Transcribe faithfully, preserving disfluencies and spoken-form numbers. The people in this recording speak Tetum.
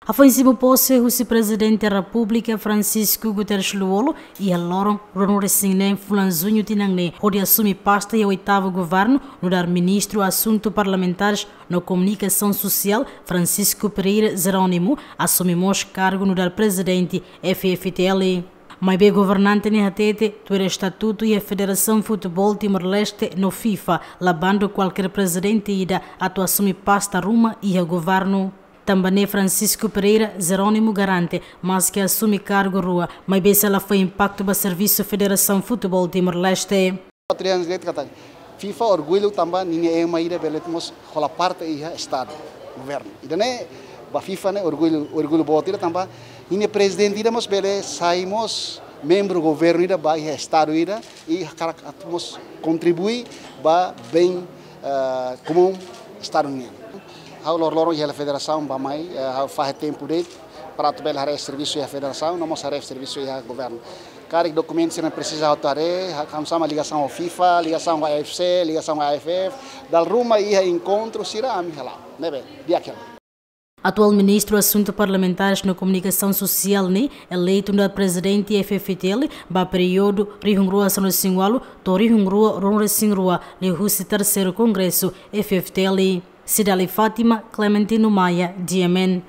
Hafoin simu pose husi Prezidente Repúblika Francisco Guterres Lú-Olo iha loron ruanulu-resin-neen fulan Juñu tinan ne'e, hodi asume pasta iha oitavu governu, nu'udar Ministru Asuntu Parlamentares no Komunikasaun Sosiál, Francisco Pereira Jerónimo, asume mós kargu nu'udar Prezidente F F T L. Maibé governante ne'e hatete, tuir estatutu iha Federasaun Futeból Timor-Leste no FIFA, la bandu kualkér prezidente ida atu asume pasta ruma iha governu. Tanba ne'e Francisco Pereira Jerónimo garante, maske asume kargu rua, maibé sei la fó impaktu ba servisu Federasaun Futeból Timor-Leste. Patria direito kata FIFA orgullu tanba ninia ema ida bele mós hola parte iha estadu, governu. Ida-ne'e ba FIFA ne'e orgullu, orgullu boot ida tanba ninia prezidente ida mós bele sai mós membru governu ida ba iha estadu ida i hakarak atu mós kontribui ba bein, eh, komún estadu nian. Ha'u loroloron iha federasaun bá-mai, eh, ha'u fahe tempu de'it para atu bele haree servisu iha federasaun, no mós haree servisu iha governu. Karik dokumentu sira presiza atu haree, ha-, hanesan ligasaun ho FIFA, ligasaun ho A F C, ligasaun ho A F F, dala ruma iha enkontru sira ami hala'o. Ne'ebé, di'ak hela. Atuál Ministru Asuntu Parlamentares no Komunikasaun Sosiál ne'e eleitu nu'udar Prezidente F F T L ba períodu rihun rua sanulu-resin-ualu to'o rihun rua ruanulu-resin-rua, liuhusi terseiru Kongresu F F T L. Cidaly Fátima, Clementino Maia, G M N.